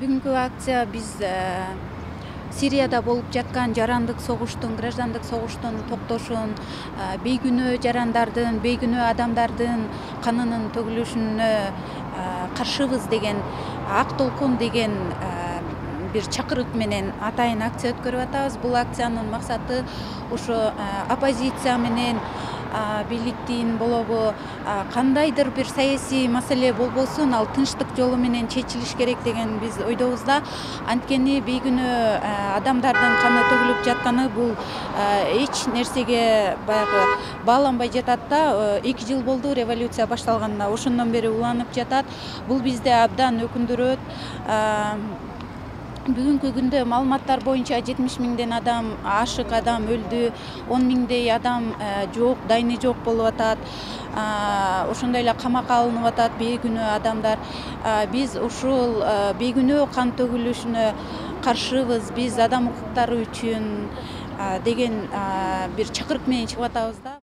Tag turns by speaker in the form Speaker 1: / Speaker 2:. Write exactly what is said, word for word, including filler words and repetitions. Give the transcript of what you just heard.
Speaker 1: Бүгүнкү акция биз Сирияда болуп жаткан жарандык согуштун, граждандык согуштун токтошун, бейгүнөө жарандардын, бейгүнөө адамдардын канынын төгүлүшүнө каршыбыз деген ак толкун деген бир чакырык менен атайын акция өткөрүп атабыз. Бул акциянын максаты ошо оппозиция менен бийликтин болобу кандайдыр бир саясий маселе болбосун, ал тынчтык жолу менен чечилиш керек деген биз ойдобуз да. Анткени бейгүнөө адамдардын каны төгүлүп жатканы бул эч нерсеге баягы бааланбай жатат да. эки жыл болду революция башталганына, ошондон бери уланып жатат. Бул бизди абдан өкүндүрөт. Бүгүнкү күндө маалыматтар боюнча жетимиш миңден адам, ашык адам өлдү, он миңдей адам жок, дайыны жок болуп атат. Ошондой эле камакка алынып атат бейгүнөө адамдар. Биз ушул бейгүнөө кан төгүлүшүнө каршыбыз, биз адам укуктары үчүн деген бир чакырык менен чыгып атабыз да.